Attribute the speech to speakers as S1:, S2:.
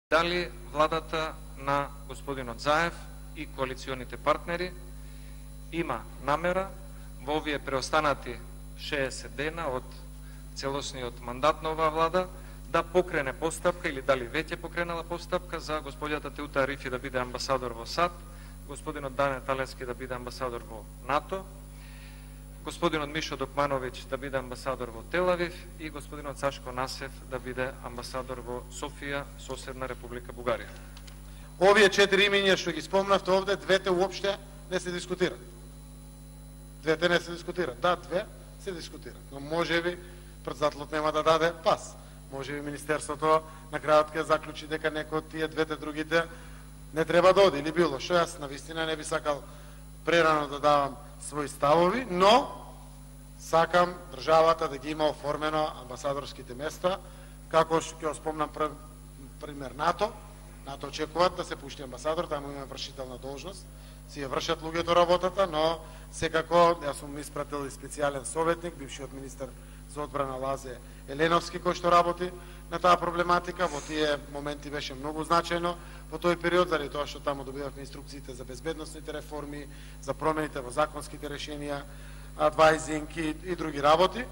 S1: Дали владата на господинот Заев и коалиционите партнери има намера во овие преостанати 60 дена од целосниот мандат на оваа влада да покрене постапка или дали веќе покренала постапка за господјата Теута Арифи да биде амбасадор во САД, господинот Дане Талевски да биде амбасадор во НАТО, господинот Мишо Докмановиќ да биде амбасадор во Телавив и господинот Сашко Насев да биде амбасадор во Софија, соседна Република Бугарија.
S2: Овие 4 имиња што ги спомнавте овде, двете уопште не се дискутираат. Двете не се дискутираат. Да, две се дискутираат, но можеби претседателот нема да даде пас. Можеби Министерството на крајот ќе заклучи дека некој од тие двете другите не треба да оди или било што. Јас навистина не би сакал прерано да давам своји ставови, но сакам државата да ги има оформено амбасадорските места, како што ќе спомнам пример НАТО. НАТО очекуваат да се пушти амбасадор, таму има вршителна должност, си ја вршат луѓето работата, но секако јас сум испратил и специјален советник, бившиот министер за одбрана Лазе Еленовски, кој што работи на таа проблематика. Во тие моменти беше многу значајно во тој период, заради тоа што таму добивавме инструкциите за безбедносните реформи, за промените во законските решенија, адвајзинг и други работи.